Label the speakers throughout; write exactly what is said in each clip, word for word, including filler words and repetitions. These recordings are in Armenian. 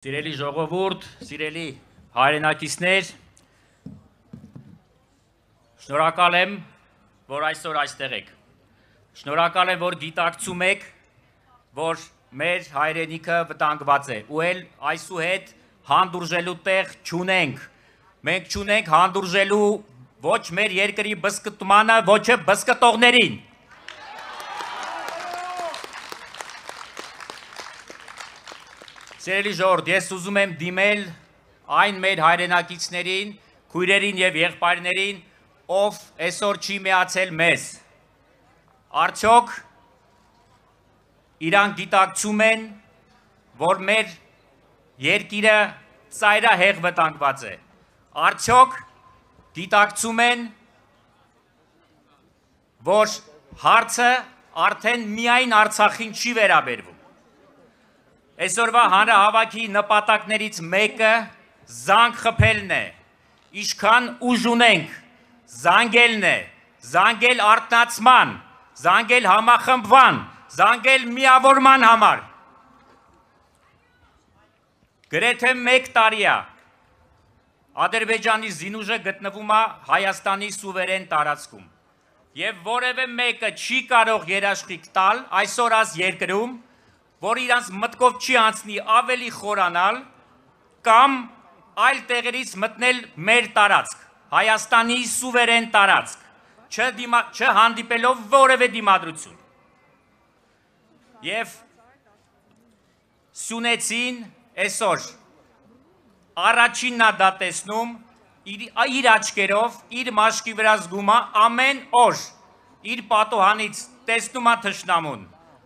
Speaker 1: Սիրելի ժողովուրդ, սիրելի հայրենակիցներ, շնորհակալ եմ, որ այսօր այստեղ եք։ Շնորհակալ եմ, որ գիտակցում եք, որ մեր հայրենիքը վտանգված է, ու էլ այսուհետ հանդուրժելու տեղ չունենք։ Մենք չունենք հանդուրժելու ոչ մեր երկրի բզկտմանը, ոչ բզկտողներին։ Սիրելի ժողովուրդ, ես ուզում եմ դիմել այն մեր հայրենակիցներին, քույրերին եւ եղբայրներին, ով այսօր չի միացել մեզ։ Արդյոք իրանք գիտակցում են, որ մեր երկիրը ծայրահեղ վտանգված է։ Արդյոք գիտակցում են, որ հարցը արդեն միայն Արցախին չի վերաբերվում։ Այսօրվա հանրահավաքի նպատակներից մեկը զանգ խփելն է, ինչքան ուժ ունենք, զանգելն է, զանգել արթնացման, զանգել համախմբման, զանգել միավորման համար։ Գրեթե մեկ տարի է Ադրբեջանի զինուժը գտնվում է Հայաստանի սուվերեն տարածքում եւ որևէ մեկը չի կարող երաշխիք տալ այսօր այս երկրում, որ իրանց մտքով չի անցնի ավելի խորանալ կամ այլ տեղերից մտնել մեր տարածք, Հայաստանի սուվերեն տարածք, չհանդիպելով որևէ դիմադրություն։ Եվ Սյունեցին այսօր առաջինն է դա տեսնում, իր աչքերով, իր մաշկի վրա զգում է ամեն օր, իր պատոհանից տեսնում է թշնամուն,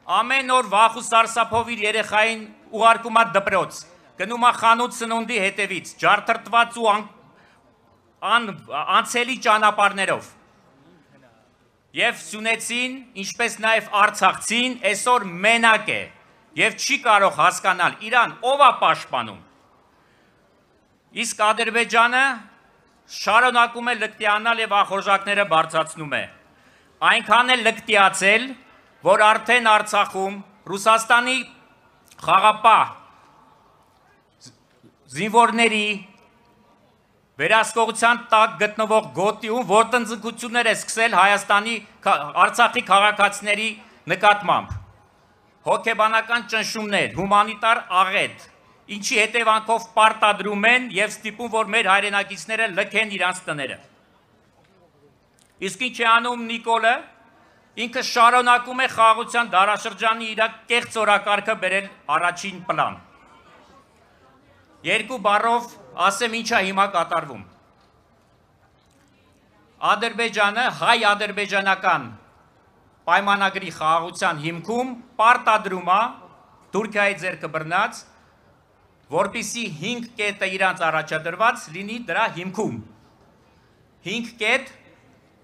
Speaker 1: ամեն օր վախ ու սարսափով իր երեխային ուղարկում է դպրոց, գնում է խանութ սնունդի հետևից, ջարդրտված ու անցելի ճանապարհներով։ Եվ Սյունեցին, ինչպես նաև Արցախցին, այսօր մենակ է եւ չի կարող հասկանալ իրան ով է պաշտպանում։ Իսկ Ադրբեջանը շարունակում է լկտիանալ եւ ախորժակները բարձրացնում է։ Այնքան է լկտիացել, որ արդեն Արցախում Ռուսաստանի խաղապահ զինվորների վերահսկողության տակ գտնվող գոտիում ոտնձգություններ է սկսել Հայաստանի Արցախի քաղաքացիների նկատմամբ։ Հոգեբանական ճնշումներ, հումանիտար աղետ, ինչի հետևանքով պարտադրում են եւ ստիպում, որ մեր հայրենակիցները լքեն իրանց տները։ Իսկ ինչ է անում Նիկոլը, ինքը շարունակում է խաղաղության դարաշրջանի իր կեղծ օրակարգը բերել առաջին պլան։ Երկու բառով ասեմ ինչ է հիմա կատարվում։ Ադրբեջանը հայ-ադրբեջանական պայմանագրի խաղաղության հիմքում պարտադրում է Թուրքիայի ձեռքը բռնած, որպեսզի հինգ կետը իրանց առաջադրված լինի դրա հիմքում։ Հինգ կետ,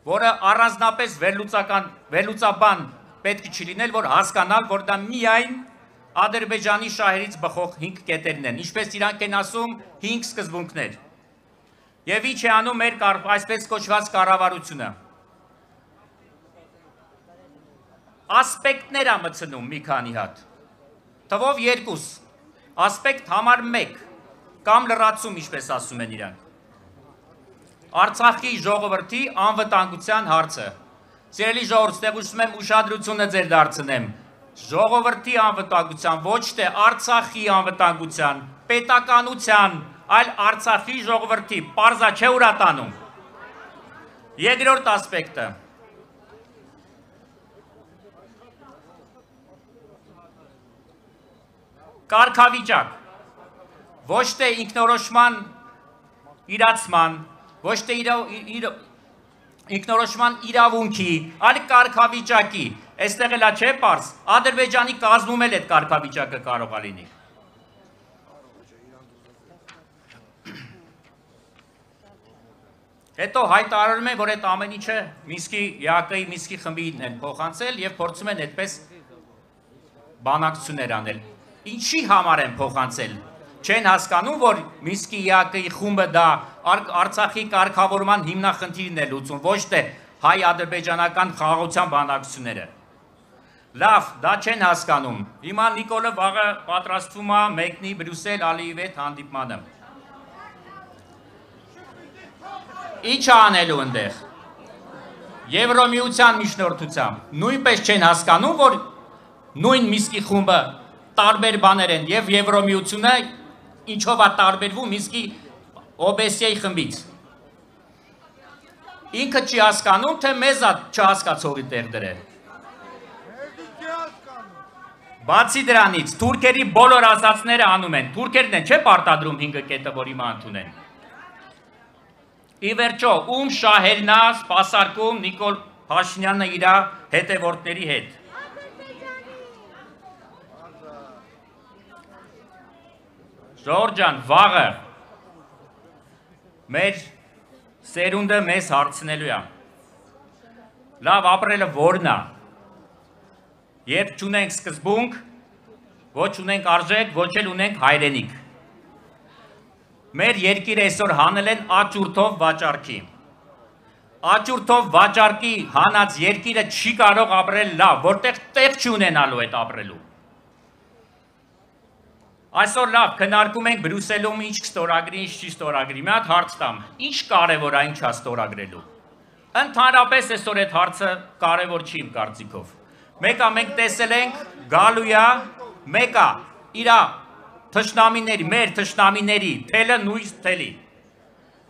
Speaker 1: որը առանձնապես վերլուծաբան պետք չի լինել, որ հասկանալ, որ դա միայն Ադրբեջանի շահերից բխող հինգ կետերն են, ինչպես իրանք են ասում հինգ սկզբունքներ։ Եվ ինչ է անում մեր այսպես կոչված կառավարությունը։ Ասպեկտներ է մտցնում մի քանի հատ, թվով երկուս, ասպեկտ համար մեկ, կամ լրացում, ինչպես ասում են իրանք։ Արցախի ժողովրդի անվտանգության հարցը։ Սիրելի ժողովուրդ, ստեղ ուզում եմ ուշադրությունը ձեր դարձնեմ։ Ժողովրդի անվտանգության, ոչ թե Արցախի անվտանգության, պետականության, այլ Արցախի ժողովրդի, պարզա չէ ուր է տանում։ Երկրորդ ասպեկտը։ Կարգավիճակ, ոչ թե ինքնորոշման իրացման, ոչ թե ինքնորոշման իրավունքի, այլ կարգավիճակի, այստեղ էլ չէ պարզ, Ադրբեջանի կազմում էլ այդ կարգավիճակը կարող է լինի։ Հետո հայտարարում են, որ այդ ամեն ինչը Մինսկի ԵԱԿ-ի Մինսկի խմբին են փոխանցել եւ փորձում են այդպես բանակցություններ անել։ Ինչի համար են փոխանցել։ Չեն հասկանում, որ Մինսկի ԵԱԿ-ի խումբը դա Արցախի կարգավորման հիմնախնդիրն է լուծում, ոչ թե հայ-ադրբեջանական խաղաղության բանակցությունները։ Լավ, դա չեն հասկանում։ Հիմա Նիկոլը վաղը պատրաստվում է մեկնի Բրյուսել Ալիևի հետ հանդիպմանը։ Ինչ անելու ընդեղ։ Եվրոմիության միջնորդությամբ նույնպես չեն հասկանում, որ նույն Միսկի խումբը տարբեր բաներ են եւ Եվրոմիությունը ինչով է տարբերվում Միսկի օբեսիայի խմբից։ Ինքը չի հասկանում, թե մեզ է չհասկացողի տեղ դրել։ Բացի դրանից, թուրքերի բոլոր ասածները անում են։ Թուրքերն են չէ պարտադրում հինգը կետը, որ հիմա ընդունեն։ Ի վերջո, ում շահերն է սպասարկում Նիկոլ Փաշինյանը իր հետևորդների հետ։ Ժողովուրդ ջան, վաղը մեր սերունդը մեզ հարցնելու է։ Լավ ապրելը որն է։ Երբ չունենք սկզբունք, ոչ ունենք արժեք, ոչ էլ ունենք հայրենիք։ Մեր երկիրը այսօր հանել են աճուրդով վաճառքի։ Աճուրդով վաճառքի հանած երկիրը չի կարող ապրել լավ, որտեղ տեղ չունենալու այդ ապրելու։ Այսօր լավ քննարկում ենք Բրյուսելում ինչ կստորագրի, ինչ չի ստորագրի։ Մի հատ հարց տամ, ինչ կարևոր է, ինչ է ստորագրելու։ Ընդհանրապես այսօր այդ հարցը կարևոր չի իմ կարծիքով։ Մեկը մենք տեսել ենք գալու է, մեկը իր թշնամիների, մեր թշնամիների թելը նույն թելի։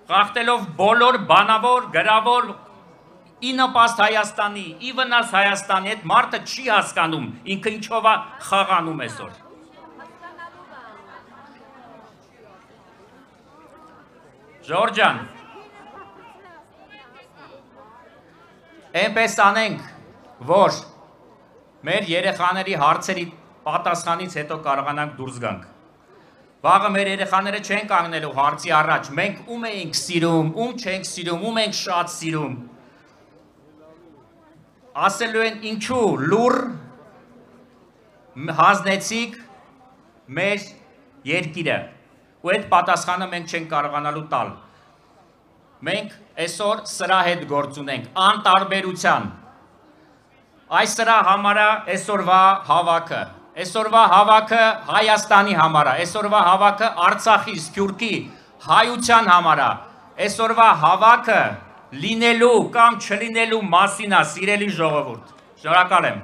Speaker 1: Խախտելով բոլոր բանավոր, գրավոր ի նպաստ Հայաստանի, ի վնաս Հայաստանի, այդ մարդը չի հասկանում ինքը ինչով է խաղանում այսօր։ Ժողովուրդ ջան, այնպես անենք, որ մեր երեխաների հարցերի պատասխանից հետո կարողանանք դուրս գանք։ Վաղը մեր երեխաները չեն կանգնելու հարցի առաջ, մենք ում ենք սիրում, ում չենք սիրում, ում ենք շատ սիրում։ Ասելու են ինչու լուր հանձնեցիք մեր երկիրը։ Ու այդ պատասխանը մենք չենք կարողանալու տալ։ Մենք այսօր սրա հետ գործ ունենք, անտարբերության։ Այս սրա համար է այսօրվա հավաքը։ Այսօրվա հավաքը Հայաստանի համար է, այսօրվա հավաքը Արցախի, Սփյուռքի, հայության համար է։ Այսօրվա հավաքը լինելու կամ չլինելու մասին է, սիրելի ժողովուրդ։ Շնորհակալ եմ։